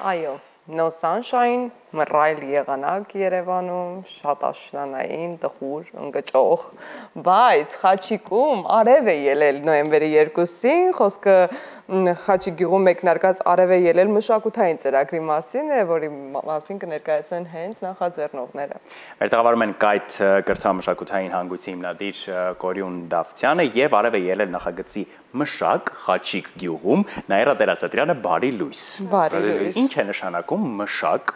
Այո, No Sunshine, մռայլ եղանակ Երևանում, շատ աշնանային, տխուր, ընկճող, բայց Խաչիկում արև է ելել նոյեմբերի 2-ին, խոսքը Խաչիկ գյուղում մեկնարկած արև է ելել մշակութային ծրագրի մասին է, որի մասին կներկայացնեն հենց նախաձեռնողները։ Մեր տաղավարում են Կայթ կրթամշակութային հանգույցի հիմնադիր Կորյուն Դավթյանը եւ արև է ելել նախագծի մշակ Խաչիկ գյուղում Նաիրա Տերասատրյանը բարի լույս։ Բարի լույս։ Ինչ է նշանակում մշակ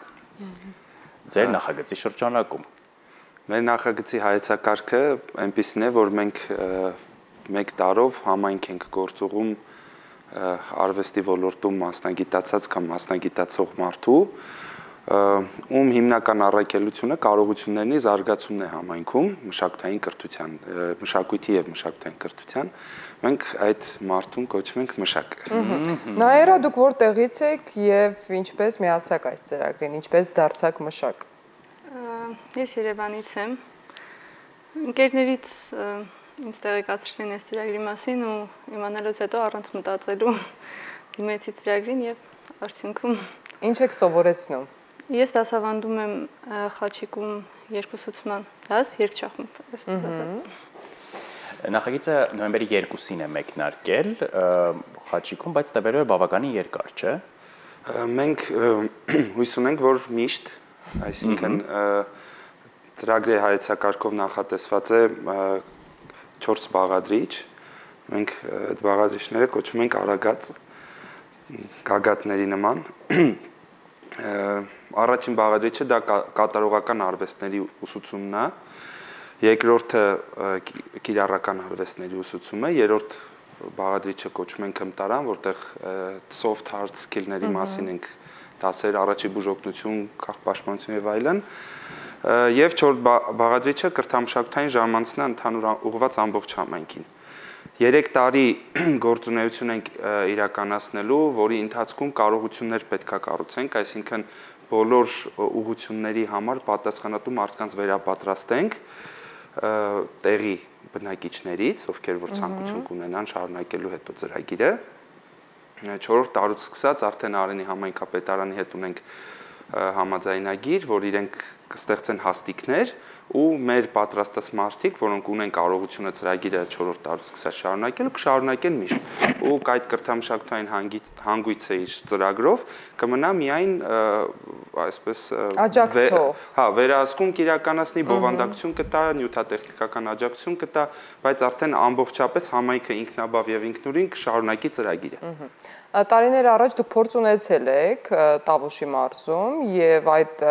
ձեր նախագծի շրջանակում։ Մեր նախագծի հայեցակարգը այնպիսին է, որ մենք մեկ տարով համայնք ենք գործուղում արվեստի ոլորտում մասնագիտացած կամ մասնագիտացող մարդու, ում հիմնական առաքելությունը կարողությունների զարգացումն է համայնքում մշակութային կրթության, մշակույթի եւ մշակութային կրթության, մենք այդ մարդուն կոչում ենք մշակ։ Նաիրա, դուք որտեղից եք եւ ինչպես միացաք այս ծրագրին, ինչպես դարձաք մշակ։ Ես Երևանից եմ։ Ընկերներից ինձ տեղեկացրին այս ծրագրի մասին ու իմանալուց հետո առանց մտածելու դիմեցի ծրագրին եւ արդյունքում Ինչ եք սովորեցնում։ Ես դասավանդում եմ Խաչիկում երկուսուցման դաս, երգչախումբ։ Նախագիծը նոյեմբերի 2-ին է մեկնարկել Խաչիկում, բայց տևելու է բավականին երկար, չէ՞։ Մենք հույս ունենք, որ միշտ, այսինքն ծրագրի հայեցակարգով նախատեսված է 4 բաղադրիչ, մենք այդ բաղադրիչները կոչում ենք արագած գագաթների նման։ Առաջին բաղադրիչը դա կատարողական արվեստների ուսուցումն է, երկրորդը կիրառական արվեստների ուսուցումը, երրորդ բաղադրիչը կոչում ենք հմտարան, որտեղ soft hard skill-ների մասին ենք դասեր, առաջի բուժօգնություն, քաղաքապաշտպանություն եւ այլն, եւ չորրորդ բաղադրիչը կրթամշակութային ժամանցն է ընդհանուր ուղղված ամբողջ համայնքին։ 3 տարի գործունեություն ենք իրականացնելու, որի ընթացքում կարողություններ պետքա կառուցենք, այսինքն բոլոր ուղղությունների համար պատասխանատու մարդկանց վերապատրաստենք տեղի բնակիչներից, ովքեր որ ցանկություն կունենան շարունակելու հետո ծրագիրը։ 4-րդ տարուց սկսած արդեն Արենի համայնքապետարանի հետ ունենք համաձայնագիր, որ իրենք կստեղծեն հաստիկներ ու մեր պատրաստած մարդիկ, որոնք ունեն կարողությունը ծրագիրը 4-րդ տարուց սկսած շարունակել, կշարունակեն միշտ։ Ու այդ կրթամշակութային հանգույցը իր ծրագրով կմնա միայն այսպես աջակցող։ Հա, վերահսկում կիրականացնի, բովանդակություն կտա, նյութատեխնիկական աջակցություն կտա, բայց արդեն ամբողջապես համայնքը ինքնաբավ եւ ինքնուրույն կշարունակի ծրագիրը։ Տարիներ առաջ դուք փորձ ունեցել եք Տավուշի մարզում եւ այդ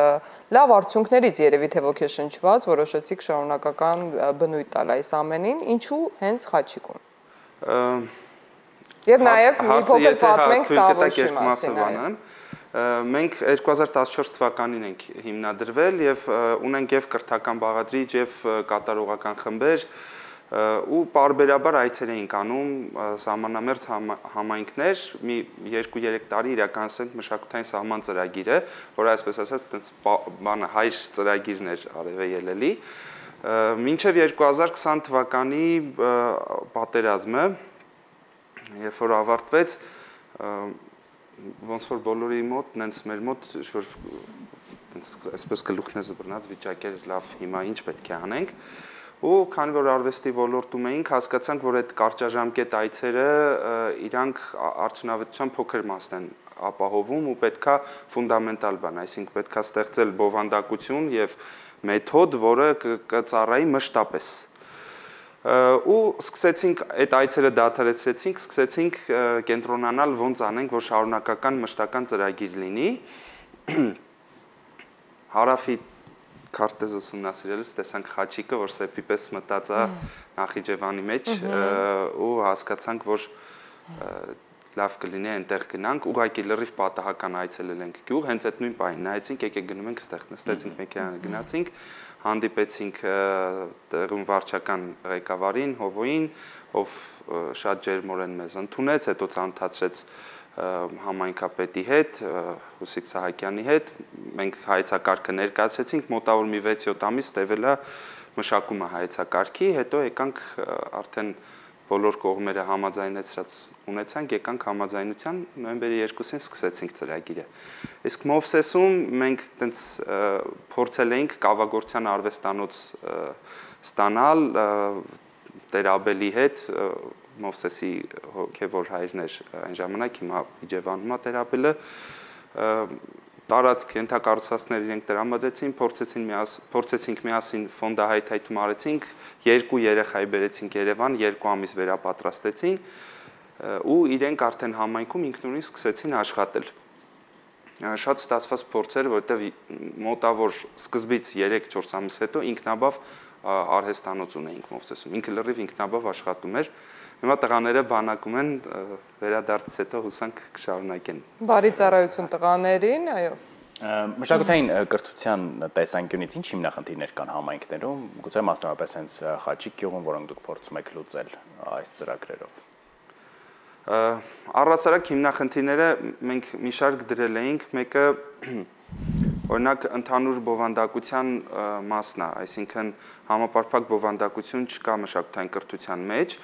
լավ արդյունքներից երևի թե ոգեշնչված որոշեցիք շարունակական բնույթ տալ այս ամենին, ինչու հենց Խաչիկում։ Եվ նաեւ մի փոքր պատմենք Տավուշի մասին։ Մենք 2014 թվականին ենք հիմնադրվել եւ ունենք եւ կրթական բաղադրիչ եւ կատարողական խմբեր ու պարբերաբար այցեր էինք անում սահմանամերձ համայնքներ, մի 2-3 տարի իրականացնենք մշակութային սահման ծրագիրը, որը այսպես ասած այդպես բանը հայր ծրագիրն էր արևե ելելի, մինչև 2020 թվականի պատերազմը, երբ որ ավարտվեց, ոնց որ բոլորի մոտ, նենց մեր մոտ որ այսպես գլուխներ զբռնած վիճակեր լավ հիմա ինչ պետք է անենք ու քանի որ արվեստի ոլորտում էինք, հասկացանք, որ այդ կարճաժամկետ այցերը իրանք արդյունավետության փոքր մասն են ապահովում ու պետքա ֆունդամենտալ բան, այսինքն պետքա ստեղծել բովանդակություն եւ մեթոդ, որը կծառայի մշտապես։ Ու սկսեցինք այդ այցերը դադարեցրեցինք, սկսեցինք կենտրոնանալ ոնց անենք, որ շարունակական մշտական ծրագիր լինի։ Հարավի քարտեզ ուսումնասիրելուց տեսանք Խաչիկը, որ սեպի պես մտած է Նախիջևանի մեջ ու հասկացանք, որ լավ կլինի այնտեղ գնանք, ուղղակի լրիվ պատահական այցելել ենք գյուղ, հենց այդ նույն պահին նայեցինք, եկեք գնում ենք ստեղ, նստեցինք մեքենան, գնացինք, հանդիպեցինք տեղում վարչական ղեկավարին, Հովոյին, ով շատ ջերմորեն մեզ ընդունեց, հետո ծանոթացրեց համայնքապետի հետ, Հուսիկ Սահակյանի հետ, մենք հայեցակարգը ներկայացրեցինք, մոտավոր մի 6-7 ամիս տևել է մշակումը հայեցակարգի, հետո եկանք արդեն բոլոր կողմերը համաձայնեցրած ունեցանք, եկանք համաձայնության նոյեմբերի 2-ին սկսեցինք ծրագիրը։ Իսկ Մովսեսում մենք տենց փորձել էինք կավագործության արվեստանոց ստանալ Տեր Աբելի հետ, Մովսեսի հոգևոր հայրն էր այն ժամանակ, հիմա Իջևանում է Տեր Աբելը, տարածք ենթակառուցվածքներ իրենք տրամադրեցին, փորձեցինք միասին ֆոնդահայթայթում արեցինք, 2 երեխայի բերեցինք Երևան, 2 ամիս վերապատրաստեցին ու իրենք արդեն համայնքում ինքնուրույն սկսեցին աշխատել։ Շատ ստացված փորձ էր, որովհետև մոտավոր սկզբից 3-4 ամիս հետո ինքնաբավ արհեստանոց ունեինք Մովսեսում, ինքը լրիվ ինքնաբավ աշխատում էր։ Հիմա տղաները բանակում են, վերադարձից հետո հուսանք կշարունակեն։ Բարի ծառայություն տղաներին, այո։ Մշակութային կրթության տեսանկյունից ինչ հիմնախնդիրներ կան համայնքներում, գուցե մասնավորապես հենց Խաչիկ գյուղում, որոնք դուք փորձում եք լուծել այս ծրագրերով։ Առհասարակ հիմնախնդիրները մենք մի շարք դրել էինք, մեկը օրինակ ընդհանուր բովանդակության մասն է, այսինքն համապարփակ բովանդակություն չկա մշակութային կրթության մեջ,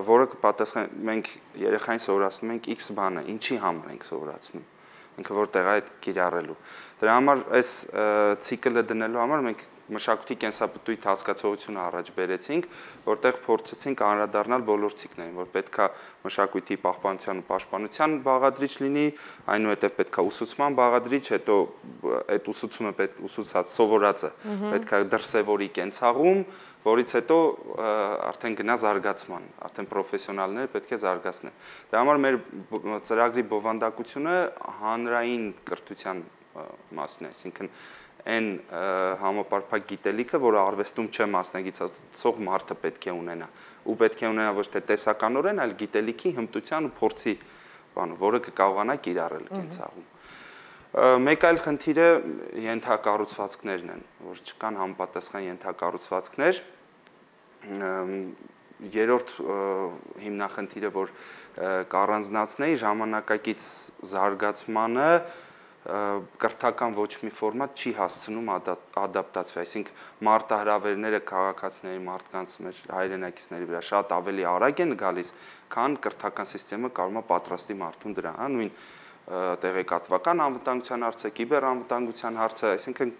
որը կպատասխանի մենք երեխային սովորացնում ենք X բանը, ինչի համար ենք սովորացնում, ինքը որտեղ է այդ կիրառելու։ Դրա համար այս ցիկլը դնելու համար մենք մշակույթի կենսապտույտ հասկացողությունը առաջ բերեցինք, որտեղ փորձեցինք անդրադառնալ բոլոր ցիկլներին, որ պետքա մշակույթի պահպանության ու պաշտպանության բաղադրիչ լինի, այնուհետև պետքա ուսուցման բաղադրիչ, հետո այդ ուսուցումը ուսուցած սովորածը պետքա դրսևորի կենցաղում, որից հետո արդեն գնա զարգացման, արդեն պրոֆեսիոնալները պետք է զարգացնեն։ Դրա համար մեր ծրագրի բովանդակությունը հանրային կրթության մասն է, այսինքն այն համապարփակ գիտելիքը, որը արվեստում չմասնագիտացող մարդը պետք է ունենա, ու պետք է ունենա ոչ թե տեսականորեն, այլ գիտելիքի, հմտության ու փորձի բանը, որը կկարողանա կիրառել կենցաղում։ Մեկ այլ խնդիրը ենթակառուցվածքներն են, որ չկան համապատասխան ենթակառուցվածքներ։ Երրորդ հիմնախնդիրը, որ կառանձնացնեի, ժամանակակից զարգացմանը կրթական ոչ մի ֆորմատ չի հասցնում ադապտացվի, այսինքն մարտահրավերները քաղաքացիների մարդկանց մեր հայրենակիցների վրա շատ ավելի արագ են գալիս, քան կրթական համակարգը կարող է պատրաստի մարդուն դրա, նույն տեղեկատվական անվտանգության հարցը, կիբերանվտանգության հարցը, այսինքն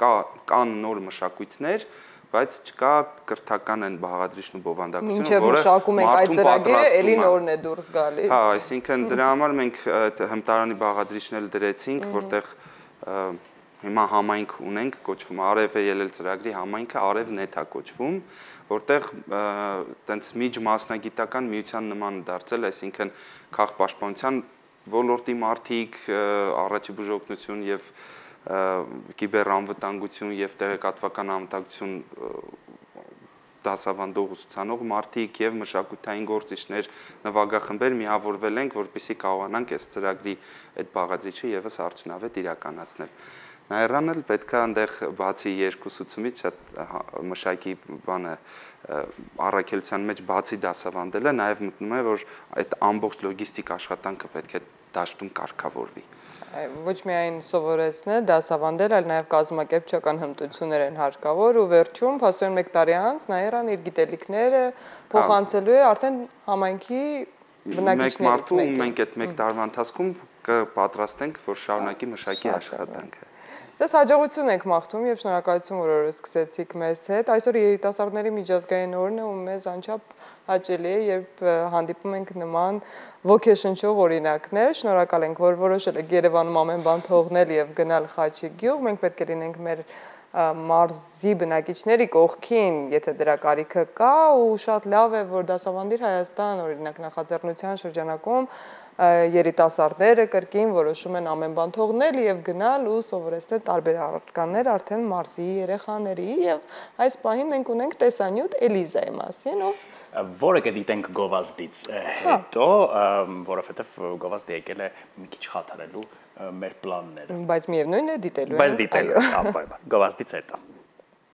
կան նոր մշակույթներ, բայց չկա կրթական այն բաղադրիչն ու բովանդակությունը, որը մշակում ենք այդ ծրագիրը, էլի նորն է դուրս գալիս։ Հա, այսինքն դրա համար մենք հմտարանի բաղադրիչն էլ դրեցինք, որտեղ հիմա համայնք ունենք, կոչվում Արև է ելել ծրագրի համայնքը, Արև.net է կոչվում, որտեղ տենց միջմասնագիտական միության նման դարձել, այսինքն քաղաքապաշտպանության ոլորտի մարդիկ, առաջի բուժօգնություն եւ կիբերանվտանգություն եւ տեղեկատվական անվտանգություն դասավանդող ուսուցանող մարդիկ եւ մշակութային գործիչներ, նվագախմբեր միավորվել ենք, որպեսզի կարողանանք այս ծրագրի այդ բաղադրիչը եւս արդյունավետ իրականացնել։ Նաերանն էլ պետք է այնտեղ բացի երկուսուցումից շատ մշակի բանը առաքելության մեջ բացի դասավանդելը նաև մտնում է, որ այդ ամբողջ լոգիստիկ աշխատանքը պետք է դաշտում կարգավորվի։ Ոչ միայն սովորեցնել, դասավանդել, այլ նաև կազմակերպչական հմտություններ են հարկավոր ու վերջում փաստորեն 1 տարի անց Նաիրան իր գիտելիքները փոխանցելու է արդեն համայնքի բնակիչներից մեկին։ Մենք այդ 1 տարվա ընթացքում կպատրաստենք, որ շարունակի մշակի աշխատանքը։ Ձեզ հաջողություն ենք մաղթում եւ շնորհակալություն, որ օրը սկսեցիք մեզ հետ։ Այսօր երիտասարդների միջազգային օրն է ու մեզ անչափ հաճելի է, երբ հանդիպում ենք նման ոգեշնչող օրինակներ։ Շնորհակալ ենք, որ որոշել եք Երևանում ամեն բան թողնել եւ գնալ Խաչիկ գյուղ։ Մենք պետք է լինենք մեր մարզի բնակիչների կողքին, եթե դրա կարիքը կա, ու շատ լավ է, որ Դասավանդիր Հայաստան օրինակ նախաձեռնության շրջանակում երիտասարդները կրկին որոշում են ամեն բան թողնել եւ գնալ ու սովորեցնել տարբեր առարկաներ արդեն մարզի երեխաների եւ այս պահին մենք ունենք տեսանյութ Էլիզայի մասին, որը կդիտենք գովազդից հետո, որովհետեւ գովազդը եկել է մի քիչ խաթարելու մեր պլանները։ Բայց միևնույն է դիտելու ենք։ Բայց դիտելու, անպայման, գովազդից հետո։